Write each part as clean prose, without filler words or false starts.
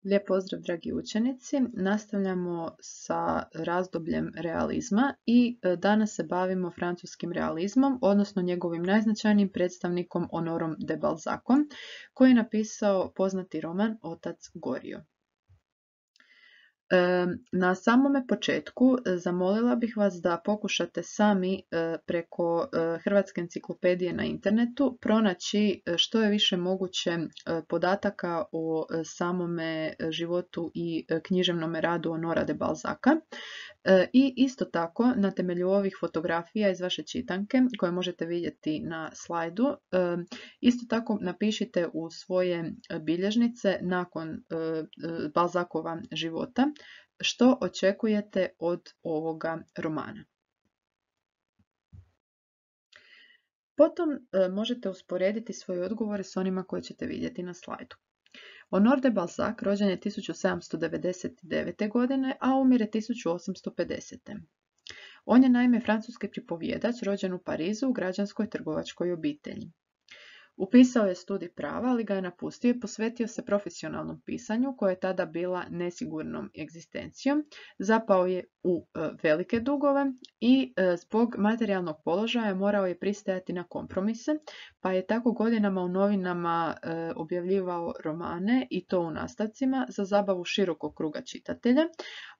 Lijep pozdrav, dragi učenici. Nastavljamo sa razdobljem realizma i danas se bavimo francuskim realizmom, odnosno njegovim najznačajnijim predstavnikom Honorom de Balzacom, koji je napisao poznati roman Otac Goriot. Na samome početku zamolila bih vas da pokušate sami preko Hrvatske enciklopedije na internetu pronaći što je više moguće podataka o samome životu i književnom radu Honora de Balzaca. I isto tako na temelju ovih fotografija iz vaše čitanke koje možete vidjeti na slajdu, isto tako napišite u svoje bilježnice nakon Balzacova života što očekujete od ovoga romana. Potom možete usporediti svoje odgovore s onima koje ćete vidjeti na slajdu. Honor de Balzac rođen je 1799. godine, a umire 1850. On je naime francuski pripovjedač rođen u Parizu u građanskoj trgovačkoj obitelji. Upisao je studij prava, ali ga je napustio i posvetio se profesionalnom pisanju, koje je tada bila nesigurnom egzistencijom. Zapao je u velike dugove i zbog materijalnog položaja morao je pristajati na kompromise, pa je tako godinama u novinama objavljivao romane i to u nastavcima za zabavu širokog kruga čitatelja,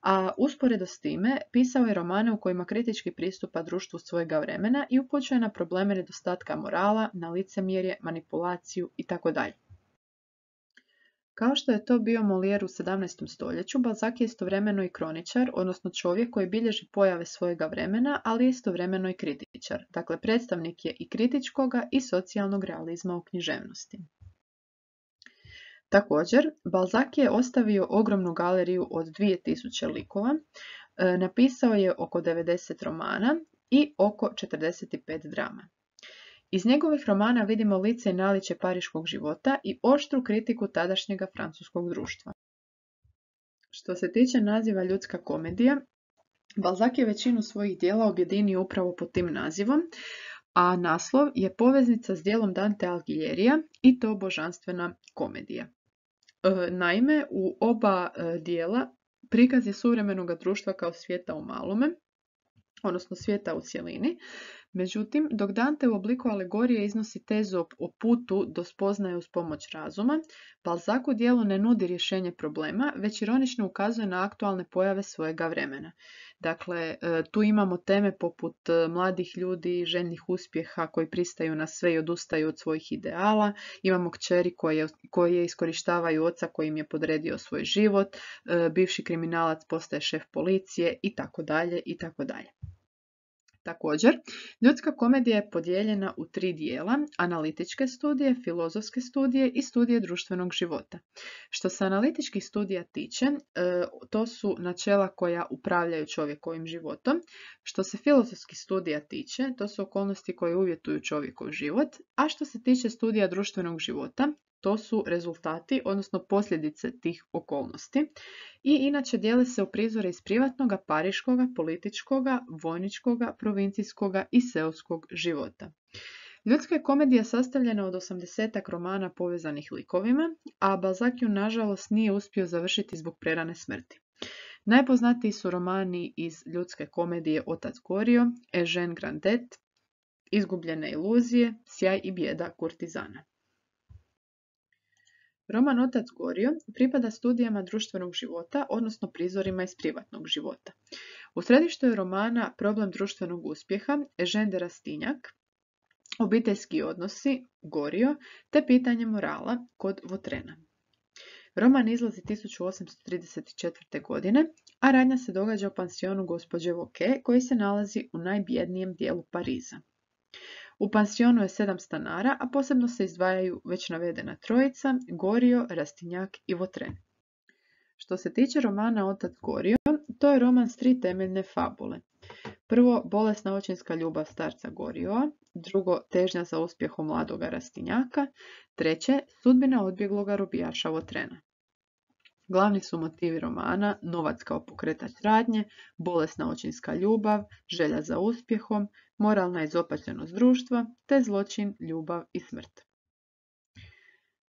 a usporedo s time pisao je romane u kojima kritički pristupa društvu svojega vremena i upućuje na probleme nedostatka morala, na licemjerje, manipulaciju itd. Kao što je to bio Molière u 17. stoljeću, Balzac je istovremeno i kroničar, odnosno čovjek koji bilježi pojave svojega vremena, ali istovremeno i kritičar. Dakle, predstavnik je i kritičkoga i socijalnog realizma u književnosti. Također, Balzac je ostavio ogromnu galeriju od 2000 likova, napisao je oko 90 romana i oko 45 drama. Iz njegovih romana vidimo lice i naličje pariškog života i oštru kritiku tadašnjega francuskog društva. Što se tiče naziva ljudska komedija, Balzac je većinu svojih djela objedinio upravo pod tim nazivom, a naslov je poveznica s djelom Dante Alighiera i to božanstvena komedija. Naime, u oba dijela prikaz je suvremenog društva kao svijeta u malome, odnosno svijeta u cjelini. Međutim, dok Dante u obliku alegorije iznosi tezu o putu do spoznaje uz pomoć razuma, Balzac u djelu ne nudi rješenje problema, već ironično ukazuje na aktualne pojave svojega vremena. Dakle, tu imamo teme poput mladih ljudi, željnih uspjeha koji pristaju na sve i odustaju od svojih ideala, imamo kćeri koje iskorištavaju oca koji im je podredio svoj život, bivši kriminalac postaje šef policije itd. itd. Također, ljudska komedija je podijeljena u 3 dijela, analitičke studije, filozofske studije i studije društvenog života. Što se analitičkih studija tiče, to su načela koja upravljaju čovjekovim životom. Što se filozofskih studija tiče, to su okolnosti koje uvjetuju čovjekov život, a što se tiče studija društvenog života, to su rezultati, odnosno posljedice tih okolnosti. I inače dijele se u prizore iz privatnoga, pariškoga, političkoga, vojničkoga, provincijskoga i seoskog života. Ljudska je komedija sastavljena od 80 romana povezanih likovima, a Balzac ju nažalost nije uspio završiti zbog prerane smrti. Najpoznatiji su romani iz ljudske komedije Otac Goriot, Eugène Grandet, Izgubljene iluzije, Sjaj i bijeda kurtizana. Roman Otac Goriot pripada studijama društvenog života, odnosno prizorima iz privatnog života. U središtu je romana problem društvenog uspjeha, Eugène de Rastignac, obiteljski odnosi, Goriot, te pitanje morala kod Vautrena. Roman izlazi 1834. godine, a radnja se događa u pansionu gospođe Vauquer, koji se nalazi u najbjednijem dijelu Pariza. U pansionu je 7 stanara, a posebno se izdvajaju već navedena trojica, Goriot, Rastignac i Vautrin. Što se tiče romana Otac Goriot, to je roman s 3 temeljne fabule. Prvo, bolesna očinska ljubav starca Goriota, drugo, težnja za uspjehom mladoga Rastignaka, treće, sudbina odbjegloga robijaša Vautrena. Glavni su motivi romana novac kao pokretač radnje, bolesna očinska ljubav, želja za uspjehom, moralna izopačenost društva, te zločin, ljubav i smrt.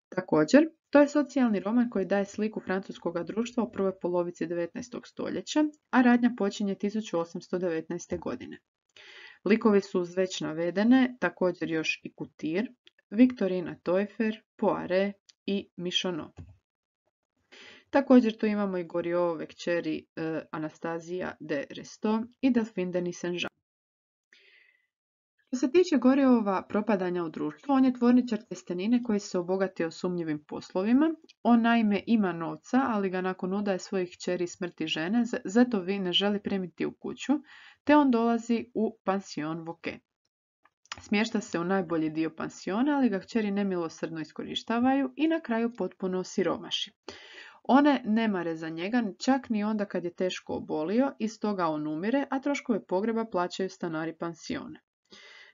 Također, To je socijalni roman koji daje sliku francuskog društva u prvoj polovici 19. stoljeća, a radnja počinje 1819. godine. Likovi su uz već navedene također još i Kutir, Victorina Teufer, Poiret i Michonneau. Također tu imamo i Goriotove kćeri Anastazija de Restaud i Delphine de Nucingen. Što se tiče Goriotova propadanja u društvu, on je tvorničar tjestenine koji se obogatio sumnjivim poslovima. On naime ima novca, ali ga nakon udaje svojih kćeri i smrti žene, zato vi ne želi primiti u kuću, te on dolazi u pansion Vauquer. Smješta se u najbolji dio pansiona, ali ga kćeri nemilosrdno iskorištavaju i na kraju potpuno osiromaši. One ne mare za njega, čak ni onda kad je teško obolio i stoga on umire, a troškove pogreba plaćaju stanari pansiona.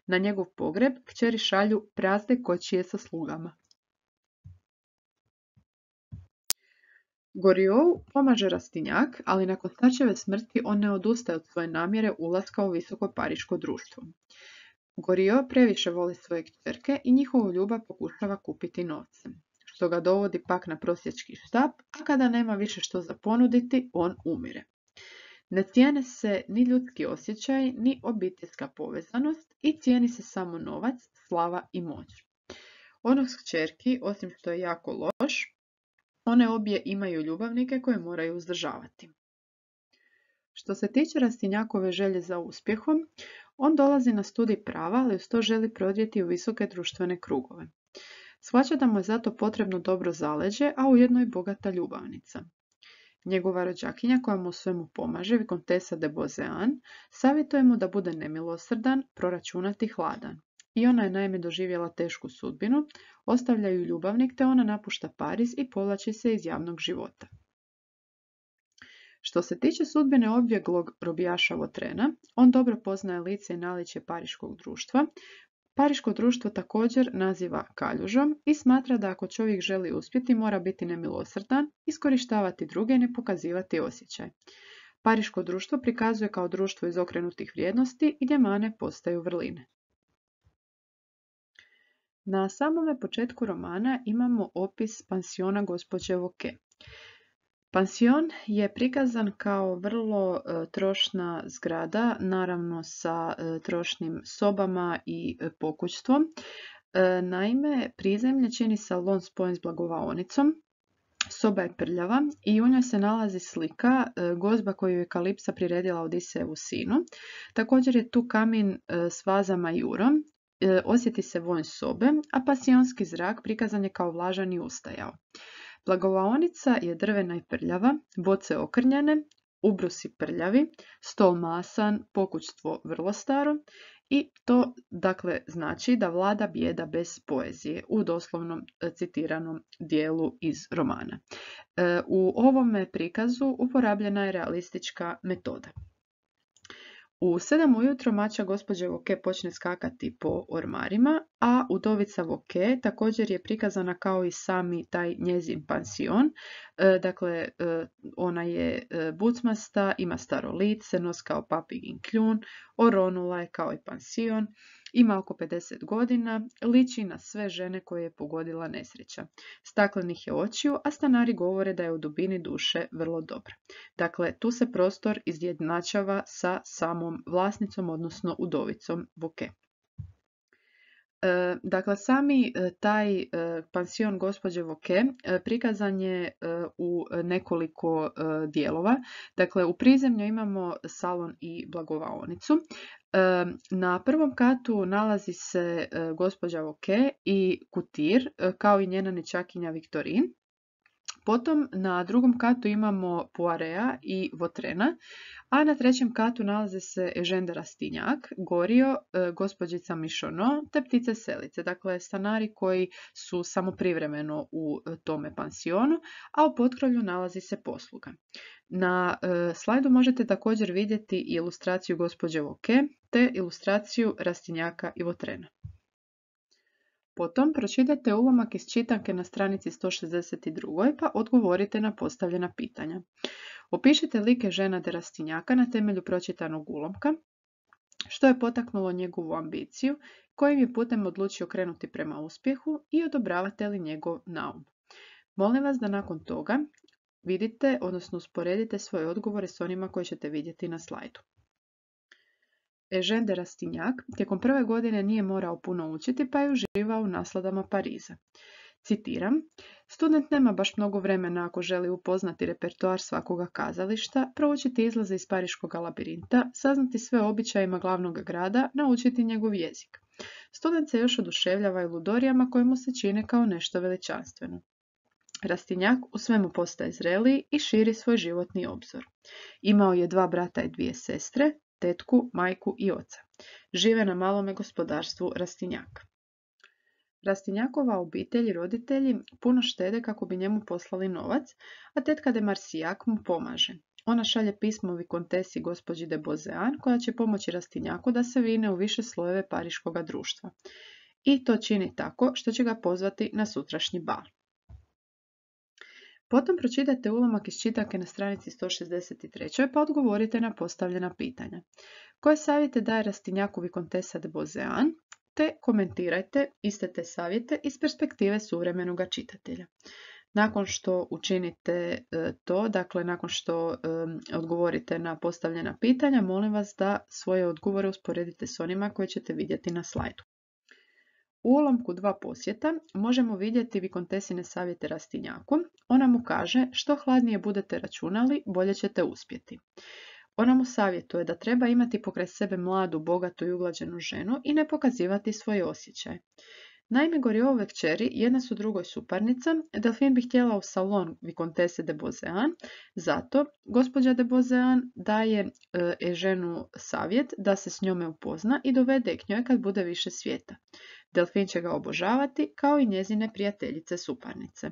Na njegov pogreb kćeri šalju prazne kočije sa slugama. Goriot pomaže Rastignac, ali nakon starčeve smrti on ne odustaje od svoje namjere ulaska u visoko pariško društvo. Goriot previše voli svoje kćerke i njihovu ljubav pokušava kupiti novcem, što ga dovodi pak na prosjački štap, a kada nema više što za ponuditi, on umire. Ne cijene se ni ljudski osjećaj, ni obiteljska povezanost i cijeni se samo novac, slava i moć. Ono s kćerki, osim što je jako loš, one obje imaju ljubavnike koje moraju uzdržavati. Što se tiče Rastignacove želje za uspjehom, on dolazi na studij prava, ali uz to želi prodrijeti u visoke društvene krugove. Shvaća da mu je zato potrebno dobro zaleđe, a ujedno i bogata ljubavnica. Njegova rođakinja koja mu u svemu pomaže, Vicomtessa de Beauséant, savjetuje mu da bude nemilosrdan, proračunat i hladan. I ona je naime doživjela tešku sudbinu, ostavlja ju ljubavnik te ona napušta Pariz i povlači se iz javnog života. Što se tiče sudbine odbjeglog robijaša Vautrena, on dobro poznaje lice i naličje pariškog društva. Pariško društvo također naziva kaljužom i smatra da ako čovjek želi uspjeti mora biti nemilosrdan, iskorištavati druge i ne pokazivati osjećaj. Pariško društvo prikazuje kao društvo izokrenutih vrijednosti gdje mane postaju vrline. Na samome početku romana imamo opis pansiona gospođe Vauquer. Pansion je prikazan kao vrlo trošna zgrada, naravno sa trošnim sobama i pokućstvom. Naime, prizemlje čini salon spojen s blagovaonicom. Soba je prljava i u njoj se nalazi slika gozba koju je Kalipsa priredila Odisejevu sinu. Također je tu kamin s vazama i urom. Osjeti se vonj sobe, a pasionski zrak prikazan je kao vlažan i ustajao. Blagovaonica je drvena i prljava, boce okrnjene, ubrusi prljavi, stol masan, pokućstvo vrlo staro i to dakle znači da vlada bijeda bez poezije u doslovnom citiranom dijelu iz romana. U ovome prikazu uporabljena je realistička metoda. U 7 ujutro mača gospođe Vauquer počne skakati po ormarima, a udovica Vauquer također je prikazana kao i sami taj njezin pansion. Dakle, ona je bucmasta, ima staro lice, nos kao papigin kljun, oronula je kao i pansion, ima oko 50 godina, liči na sve žene koje je pogodila nesreća. Staklenih je očiju, a stanari govore da je u dubini duše vrlo dobra. Dakle, tu se prostor izjednačava sa samom vlasnicom, odnosno udovicom Vauquer. Dakle, sami taj pansion gospođe Vauquer prikazan je u nekoliko dijelova. Dakle, u prizemlju imamo salon i blagovaonicu. Na prvom katu nalazi se gospođa Vauquer i Kutir, kao i njena nećakinja Victorine. Potom na drugom katu imamo Poireta i Vautrena, a na trećem katu nalaze se Eugène de Rastignac, Goriot, gospođica Michonneau te ptice selice, dakle stanari koji su samo privremeno u tome pansionu, a u potkrovlju nalazi se posluga. Na slajdu možete također vidjeti ilustraciju gospođe Vauquer te ilustraciju Rastignaca i Vautrena. Potom pročitajte ulomak iz čitanke na stranici 162. pa odgovorite na postavljena pitanja. Opišite like Eugèna de Rastignaca na temelju pročitanog ulomka, što je potaknulo njegovu ambiciju, kojim je putem odlučio krenuti prema uspjehu i odobravate li njegov naum. Molim vas da nakon toga vidite, odnosno usporedite svoje odgovore s onima koje ćete vidjeti na slajdu. Eugène de Rastignac tijekom prve godine nije morao puno učiti pa je uživao u nasladama Pariza. Citiram, student nema baš mnogo vremena ako želi upoznati repertoar svakoga kazališta, proučiti izlaze iz pariškog labirinta, saznati sve o običajima glavnog grada, naučiti njegov jezik. Student se još oduševljava i ludorijama koje mu se čine kao nešto veličanstveno. Rastignac u svemu postaje zreliji i širi svoj životni obzor. Imao je 2 brata i 2 sestre, tetku, majku i oca. Žive na malome gospodarstvu Rastignac. Rastignacova obitelj i roditelji puno štede kako bi njemu poslali novac, a tetka de Marsillac mu pomaže. Ona šalje pismo vikontesi gospođi de Beauseant koja će pomoći Rastignacu da se vine u više slojeve pariškoga društva. I to čini tako što će ga pozvati na sutrašnji bal. Potom pročitajte ulomak iz čitanke na stranici 163. pa odgovorite na postavljena pitanja. Koje savjete daje Rastignacu vikontesa de Beauseant, te komentirajte iste te savjete iz perspektive suvremenog čitatelja. Nakon što učinite to, dakle nakon što odgovorite na postavljena pitanja, molim vas da svoje odgovore usporedite s onima koje ćete vidjeti na slajdu. U ulomku 2 posjeta možemo vidjeti vikontesine savjete Rastignacu. Ona mu kaže što hladnije budete računali, bolje ćete uspjeti. Ona mu savjetuje da treba imati pokraj sebe mladu, bogatu i uglađenu ženu i ne pokazivati svoje osjećaje. Naime, Goriotove kćeri jedna su drugoj suparnica, Delphine bi htjela u salon vikontese de Beauseant, zato gospođa de Beauseant daje Eugèneu savjet da se s njome upozna i dovede k njoj kad bude više svijeta. Delphine će ga obožavati kao i njezine prijateljice suparnice.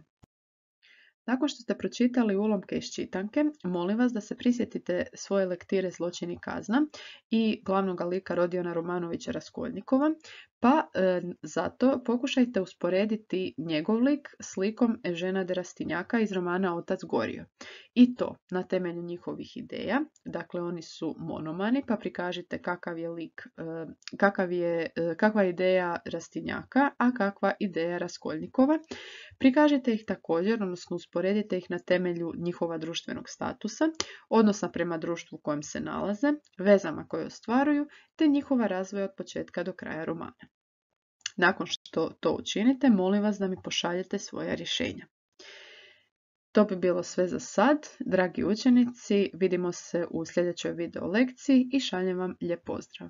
Nakon što ste pročitali ulomke iz čitanke, molim vas da se prisjetite svoje lektire Zločin i kazna i glavnog lika Rodiona Romanovića Raskolnikova, pa zato pokušajte usporediti njegov lik s likom Eugènea de Rastignaca iz romana Otac Goriot. I to na temelju njihovih ideja, dakle oni su monomani, pa prikažite kakav je lik, kakva je ideja Rastignaca, a kakva ideja Raskolnikova. Prikažite ih također, odnosno usporedite ih na temelju njihova društvenog statusa, odnosa prema društvu u kojem se nalaze, vezama koje ostvaruju, te njihova razvoja od početka do kraja romana. Nakon što to učinite, molim vas da mi pošaljete svoja rješenja. To bi bilo sve za sad. Dragi učenici, vidimo se u sljedećoj video lekciji i šaljem vam lijep pozdrav.